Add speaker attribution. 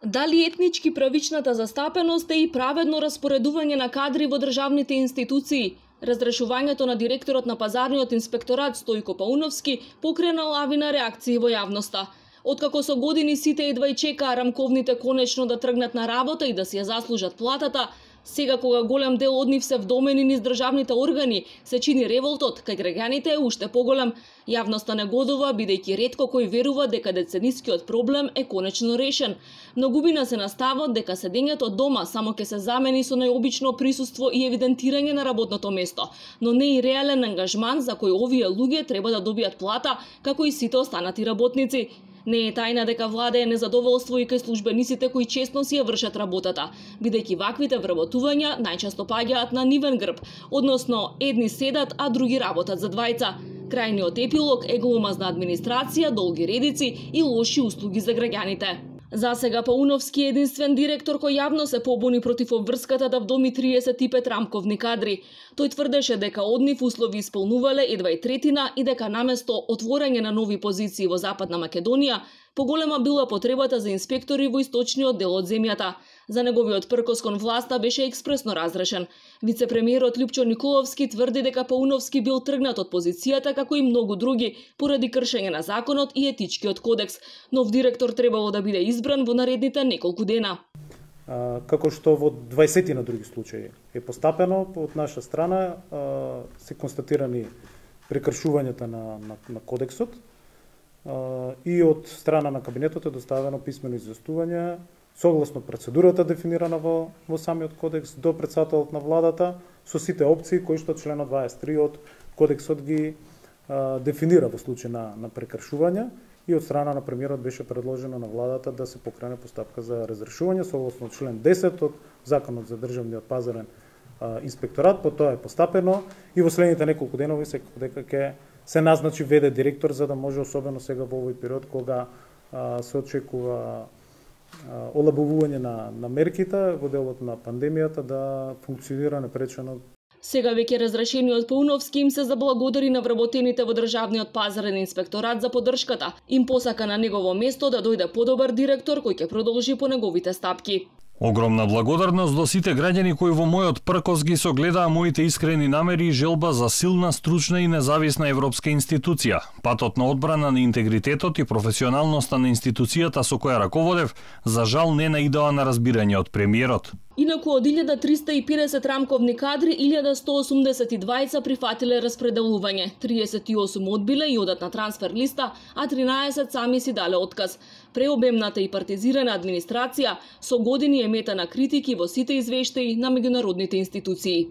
Speaker 1: Дали етнички правичната застапеност е и праведно распоредување на кадри во државните институции? Разрешувањето на директорот на пазарниот инспекторат Стојко Пауновски покрена лавина реакции во јавноста. Откако со години сите едва и чекаа рамковните конечно да тргнат на работа и да си ја заслужат платата, сега кога голем дел од нив се вдомени низ државните органи, се чини револтот кај граѓаните е уште поголем. Јавноста негодува, бидејќи ретко кој верува дека деценискиот проблем е конечно решен. Многумина се настават дека седењето дома само ќе се замени со најобично присуство и евидентирање на работното место, но не и реален ангажман за кој овие луѓе треба да добијат плата, како и сите останати работници. Не е тајна дека влада е незадоволство и кај службениците кои честно си ја вршат работата, бидејќи ваквите вработувања најчесто паѓаат на нивен грб, односно едни седат, а други работат за двајца. Крајниот епилог е гломазна администрација, долги редици и лоши услуги за граѓаните. Засега Пауновски е единствен директор кој јавно се побуни против обврската да вдоми 35 рамковни кадри. Тој тврдеше дека од нив услови исполнувале едва и третина и дека наместо отворање на нови позиции во Западна Македонија, поголема била потребата за инспектори во источниот дел од земјата. За неговиот пркос кон власта беше експресно разрешен. Вице-премиерот Љупчо Николовски тврди дека Пауновски бил тргнат од позицијата како и многу други поради кршење на законот и етичкиот кодекс. Нов директор требало да биде избран во наредните неколку дена.
Speaker 2: Како што во 20 на други случаи е постапено од наша страна, се констатирани прекршувањата на кодексот и од страна на кабинетот е доставено писмено известување согласно процедурата дефинирана во самиот кодекс до претседателот на владата со сите опции кои што членот 23 од кодексот ги дефинира во случај на прекршување, и од страна на премиерот беше предложено на владата да се покрене постапка за разрешување согласно член 10 од Законот за државниот пазарен инспекторат. По тоа е постапено и во следните неколку денови секако дека ќе се назначи ВД директор, за да може особено сега во овој период кога се очекува олабавување на мерките во делот на пандемијата да функционира непречено.
Speaker 1: Сега веќе разрешениот Пауновски им се заблагодари на вработените во државниот пазарен инспекторат за поддршката. Им посака на негово место да дојде подобар директор кој ќе продолжи по неговите стапки.
Speaker 3: Огромна благодарност до сите граѓани кои во мојот пркос ги согледаа моите искрени намери и желба за силна, стручна и независна европска институција. Патот на одбрана на интегритетот и професионалноста на институцијата со која раководев, за жал не наидоа на разбирање од премиерот.
Speaker 1: Инаку од 1350 рамковни кадри, 1182 прифатиле распределување, 38 одбиле и одат на трансфер листа, а 13 сами си дале отказ. Преобемната и партизирана администрација со години е мета на критики во сите извештаи на меѓународните институции.